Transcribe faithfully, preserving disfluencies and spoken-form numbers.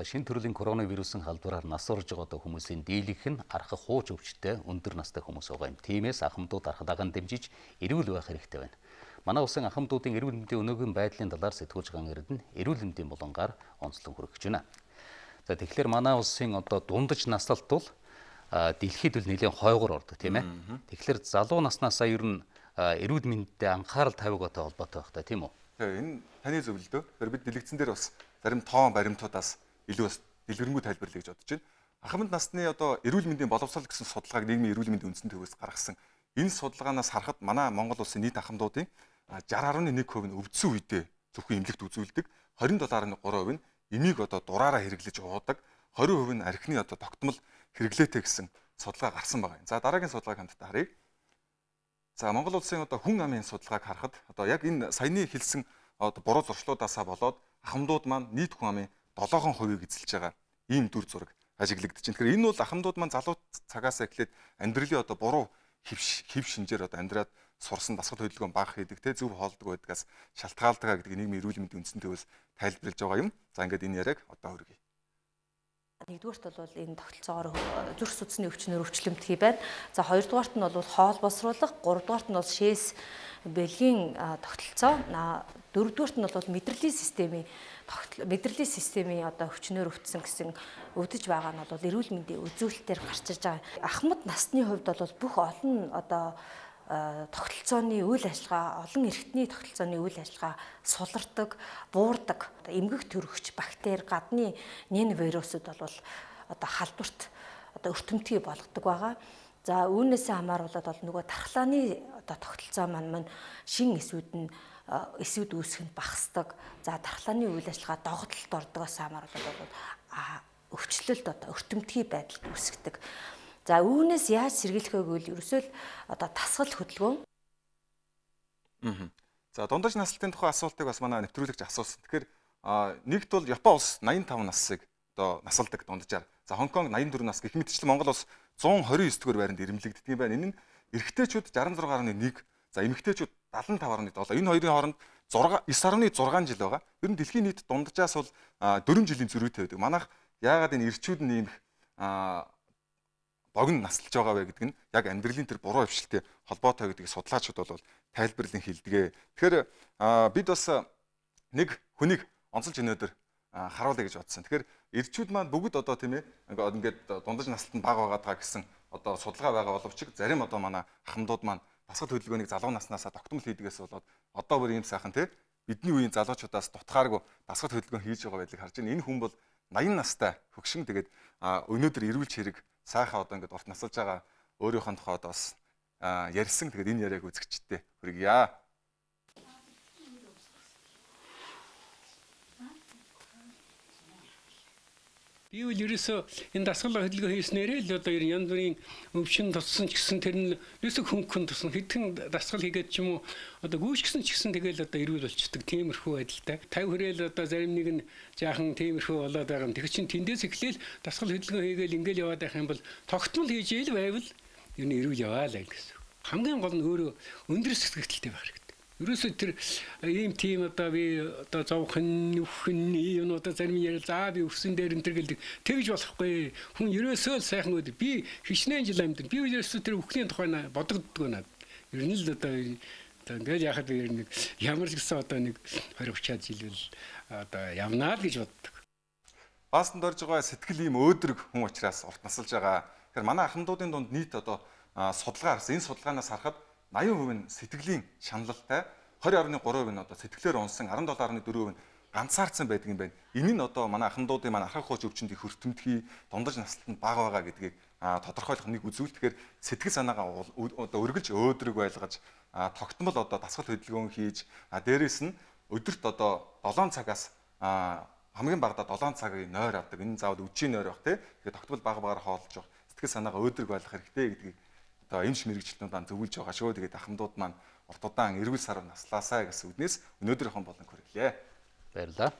За шинэ төрлийн коронавирусын халдвараар нас орж байгаа одоо хүмүүсийн дийлэнх нь архах хууч өвчтэй өндөр настай хүмүүс байгаа юм. Тиймээс ахмадууд архадагаан дэмжиж эрүүл байх хэрэгтэй байна. Манай улсын ахмадуудын эрүүл мэндийн өнөөгийн байдлын талаар сэтгүүлч Ган Эрдэнэ эрүүл мэндийн булангаар онцлон хүргэж байна. За тэгэхээр манай улсын одоо дундаж наслалт бол дэлхийд л нэлээд хойгоор ордог тийм ээ. Тэгэхээр залуу наснасаа ер нь эрүүл мэндэд анхаарал тавигатай холбоотой байх та тийм үү? Энэ таны зөвлөдөө. Тэр бид дэлгэцэн дээр бас зарим тоон баримтуудаас илүү бас дэлгэрэнгүй тайлбарлая гэж бодож байна. Ахмад насны одоо эрүүл мэндийн боловсрол гэсэн судалгааг нийгмийн эрүүл мэндийн үндсэн төвөөс гаргасан. Энэ судалгаанаас харахад манай Монгол улсын нийт ахмадуудын шестьдесят гаруй нэг хувь нь өвдсөн үедээ зөвхөн эмнэлэгт үзүүлдэг, двадцать семь гаруй три хувь нь эмийг одоо дураараа хэрэглэж уудаг, двадцать хувь нь архины одоо тогтмол хэрэглээтэй гэсэн судалгаа гарсан байгаа юм. За дараагийн судалгааг хамтдаа харъя. За Монгол улсын одоо хүн амын судалгааг харахад одоо яг энэ саяны хэлсэн одоо буруу зуршлуудаасаа болоод ахмадууд маань нийт хүн амын долоон хувийг эзэлж байгаа ийм дүр зураг ажиглагдаж байна. Тэгэхээр энэ бол ахмадууд маань залуу цагаас эхлээд амьдралын одоо буруу хөвш хэв шинжээр одоо амьдраад сурсан дасгал хөдөлгөөн бага хийдэг те зөв хоолдог байдгаас шалтгаалдаг гэдэг нийгмийн эрүүл мэндийн үндсэн төвөөс тайлбарлаж байгаа юм. За ингээд энэ яриаг одоо хүргэе. Нэгдүгээрт бол энэ тогтолцоогоор зүрх судасны өвчнөр өвчлөмтгий байна. За хоёрдугаарт нь бол хоол босруулах, гуравдугаарт нь бол шээс бэлгийн тогтолцоо, дөрөвдүгээрт нь бол мэдрэлийн системийн мэдрэлийн системийн одоо өвчнөр өвдсөн гэсэн өвдөж байгаа нь бол эрүүл мэндийн үзүүлэлтээр гарч иж байгаа. Ахмад насны хувьд бол бүх олон одоо тогтолцооны үйл ажиллагаа, олон эрхтний тогтолцооны үйл ажиллагаа сулардаг, буурдаг, эмгэг төрөгч бактери, гадны нэн вирусууд бол одоо халдварт одоо өртөмтгий болгодог байгаа. За үүнээсээ хамааруулаад бол нөгөө тархлааны одоо тогтолцоо маань шин эсвүүд нь эсвүүд үүсгэнд багасдаг. За тархлааны үйл ажиллагаа догтлолд ордогоос хамааруулаад бол өвчлөлт одоо өртөмтгий байдалд үүсгдэг. За үүнээс яаж сэргийлэх вэ гэвэл ерөөсөө л одоо тасгал хөдөлгөөн. Аа. За дундаж наслалтын тухай асуултыг бас манай нэвтрүүлэгч асуусан. Тэгэхээр нэгт бол Япон улс восемьдесят пять насыг одоо насалдаг дунджаар. За Хонконг восемьдесят четыре нас гэх мэтчлэн Монгол улс one hundred twenty-nine дугаар байранд ирэмлэгддэг юм байна. Энэ нь эрэгтэйчүүд sixty-six гаруй one, за эмэгтэйчүүд seventy-five гаруй seven. Энэ хоёрын хооронд nine гаруй six жил байгаа. Ер нь дэлхийн нийт дунджаас бол four жилийн зөрүүтэй байдаг. Манайх яагаад энэ эрчүүд нь ийм богино наслж байгаа вэ гэдэг нь яг амьдралын тэр буруу хвшилтэй холбоотой гэдгийг судлаачид бол тайлбарлан хэлдэг. Тэгэхээр бид бас нэг хүнийг онцолж өнөөдөр харуулъя гэж бодсон. Тэгэхээр эрчүүд маань бүгд одоо тийм ээ ингээд дундаж наслалтанд бага байгаа гэсэн одоо судалгаа байгаа боловч зарим одоо манай ахмадууд маань дасгал хөдөлгөөнийг залуу наснасаа тогтмол хийдгээс болоод одоо бүр ийм сайхан тийм бидний үеийн залуучуудаас дутгааргүй дасгал хөдөлгөөн хийж байгаа байдлыг харж байна. Энэ хүн бол eighty настай хөгшин тэгээд өнөөдөр эрүүлж хэрэг сайхан одоо ингээд урт насалж байгаа өөрийнхөө тухайд бас ярьсан. Тэгээд энэ яриаг үзэгчтэй хүргье. Би үл ерөөсөө энэ дасгал хөдөлгөөн хийснээрээ л одоо янз бүрийн өвчин туссан ч гэсэн тэр нь ерөөсөө хөнгөн тусна хэдхэн дасгал хийгээд ч юм уу одоо гүйшгсэн ч гэсэн тэгэл одоо эрүүл болчдөг тиймэрхүү байдалтай. фifty хүрээл одоо зарим нэг нь жаахан тиймэрхүү болоод байгаа юм. Тэр чинь тэндээс эхлээл дасгал хөдөлгөөн хийгээл ингээл яваад байх юм бол тогтмол хийж ийл байвал ер нь эрүүл яваа л гэсэн. Хамгийн гол нь өөрөө өндөр сэтгэгдэлтэй байх хэрэгтэй. Ерөөсөө тэр ийм тийм одоо би одоо зовхон нүхэн юм одоо зарим ярил заа би өссөн дээр энэ төр гэлдэг тэгж болохгүй. Хүн ерөөсөө л сайхан өд би хичнээн жил амьд. Би ерөөсөө тэр өвхний тухай бодогддог байна. Ер нь л одоо ингээд яхад би нэг ямар ч гэсэн одоо нэг twenty thirty жил л одоо явнаа л гэж боддог. Баастанд орж байгаа сэтгэл ийм өөдрөг хүн учраас урт насалж байгаа. Тэгэхээр манай ахмадуудын дунд нийт одоо судалгаа харсан. Энэ судалгаанаас харахад eighty percent нь сэтгэлийн шаналлтай, twenty point three percent нь одоо сэтгэлээр унсан, seventy point four percent нь ганцаардсан байдаг юм байна. Энэ нь одоо манай ахмадуудын маань архах хууч өвчнөд их хүртэмтгий, дундаж наслалтанд бага байгаа гэдгийг тодорхойлох нэг үзүүл. Тэгэхээр сэтгэл санаагаа одоо өргөлж өөдрөг байлгаж, тогтмол одоо дасгал хөдөлгөөн хийж, дээрээс нь өдөрт одоо seven цагаас хамгийн багадаа seven цагийн нойр авдаг. Энэ заавал үжийн нойр байх тий. Тэгэхээр тогтмол бага багаар хоолж явах, сэтгэл санаагаа өөдрөг байлгах хэрэгтэй гэдгийг одоо эмч мэрэгчлэнүүд маань зөвлөж байгаа шүү. Тэгээд ахмадууд маань урт удаан эрүүл сар наслаасаа гэсэн үднээс өнөөдрийнхэн болон хүргэлээ. Баярлалаа.